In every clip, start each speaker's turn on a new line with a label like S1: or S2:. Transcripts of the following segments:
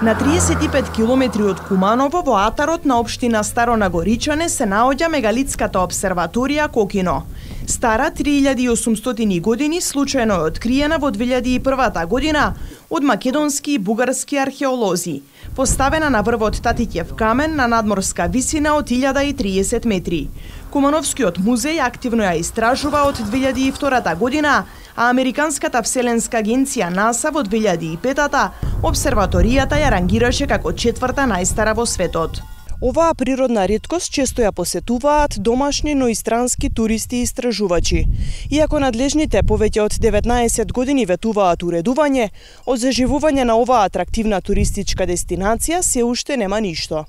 S1: На 35 километри од Куманово, во атарот на општина Старо Нагоричане, се наоѓа мегалитската обсерваторија Кокино. Стара 3800 години, случајно е откриена во 2001 година од македонски и бугарски археолози. Поставена на врвот Татиќев камен на надморска висина од 1030 метри. Кумановскиот музеј активно ја истражува од 2002 година, а Американската вселенска агенција НАСА во 2005 обсерваторијата ја рангираше како четврта најстара во светот. Оваа природна реткост често ја посетуваат домашни, но и странски туристи и истражувачи. Иако надлежните повеќе од 19 години ветуваат уредување, од заживување на оваа атрактивна туристичка дестинација се уште нема ништо.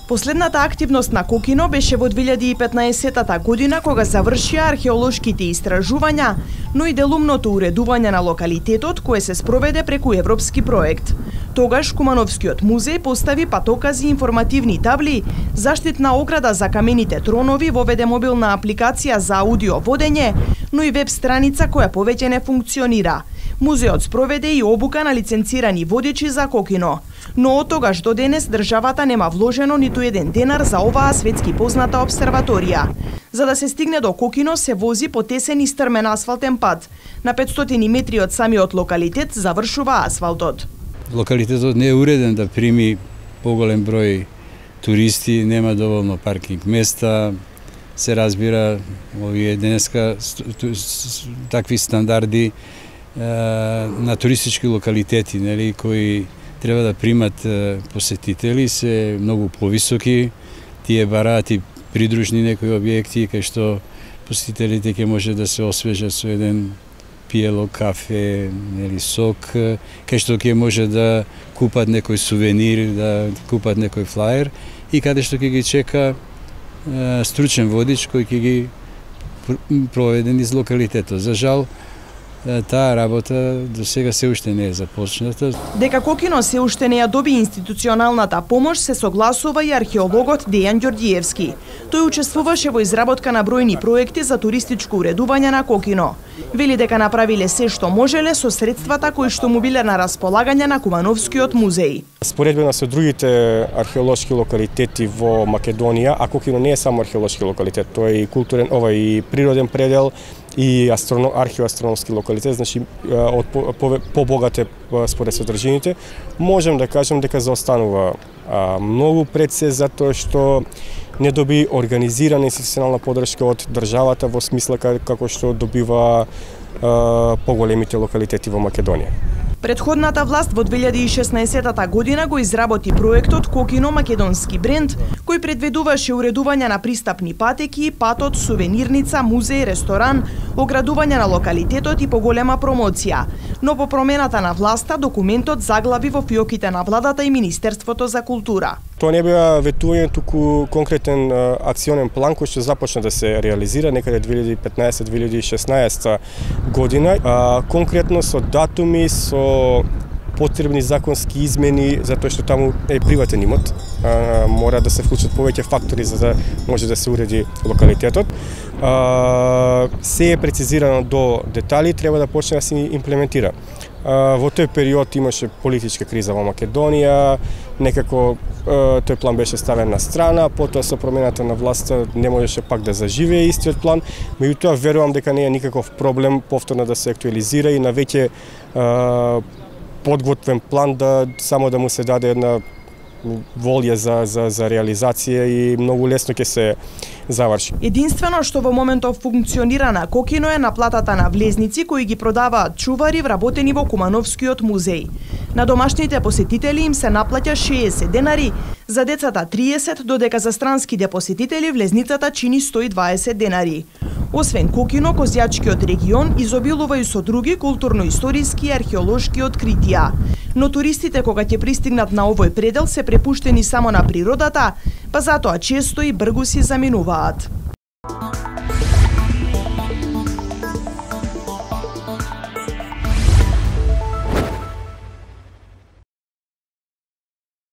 S1: Последната активност на Кокино беше во 2015 година, кога завршија археолошките истражувања, но и делумното уредување на локалитетот, кое се спроведе преку европски проект. Тогаш Кумановскиот музеј постави патокази и информативни табли, заштитна ограда за камените тронови, воведе мобилна апликација за аудио водење, но и веб страница која повеќе не функционира. Музеот спроведе и обука на лиценцирани водичи за Кокино, но од тогаш до денес државата нема вложено ниту еден денар за оваа светски позната обсерваторија. За да се стигне до Кокино се вози по тесен и стрмен асфалтен пат. На 500 метри од самиот локалитет завршува асфалтот.
S2: Локалитетот не е уреден да прими поголем број туристи, нема доволно паркинг места. Се разбира, овие денеска такви стандарди на туристички локалитети, нели, кои треба да примат посетители, се многу повисоки. Тие бараат и придружни некои објекти кај што посетителите ќе може да се освежат со еден пиело кафе, нели, сок, кај што ќе може да купат некој сувенир, да купат некој флаер и каде што ќе ги чека стручен водич кој ќе ги проведе низ локалитетот. За жал, таа работа до сега се уште не е започната. Дека Кокино се уште не ја доби институционалната помош, се согласува и археологот Дејан Ѓорѓиевски. Тој учествуваше во изработка на бројни проекти за туристичко уредување на Кокино. Вели дека направиле се што можеле со средствата кои што му биле на располагање на Кумановскиот музеј.
S3: Споредбено со другите археолошки локалитети во Македонија, а Кокино не е само археолошки локалитет, тој е и културен, и природен предел, и археоастрономски локалитет, значи од побогате според содржините, можем да кажем дека заостанува многу пред се затоа што не доби организирана институционална поддршка од државата во смисла како што добива поголемите локалитети во Македонија.
S1: Претходната власт во 2016 година го изработи проектот Кокино македонски бренд, кој предвидуваше уредување на пристапни патеки, патот, сувенирница, музеј, ресторан, оградување на локалитетот и поголема промоција. Но по промената на власта, документот заглави во фиоките на владата и Министерството за култура.
S3: Тоа не беа ветување, туку конкретен акционен план кој што започна да се реализира некаде 2015-2016 година, конкретно со датуми, со потребни законски измени, затоа што таму е приватен имот, мора да се вклучат повеќе фактори за да може да се уреди локалитетот. Се е прецизирано до детали, треба да почне да се имплементира. Во тој период имаше политичка криза во Македонија, некако тој план беше ставен на страна, потоа со промената на власта не можеше пак да заживее истиот план, меѓутоа верувам дека не е никаков проблем повторно да се актуализира и на веќе подготвен план да само да му се даде една волја за реализација и многу лесно ќе се заврши.
S1: Единствено што во моментов функционира на Кокино е наплатата на влезници кои ги продаваат чувари вработени во Кумановскиот музеј. На домашните посетители им се наплаќа 60 денари, за децата 30, додека за странските посетители влезницата чини 120 денари. Освен Кокино, Козјачкиот регион изобилува и со други културно-историски и археолошки откритија. Но туристите кога ќе пристигнат на овој предел се препуштени само на природата, па затоа често и бргу си заминуваат.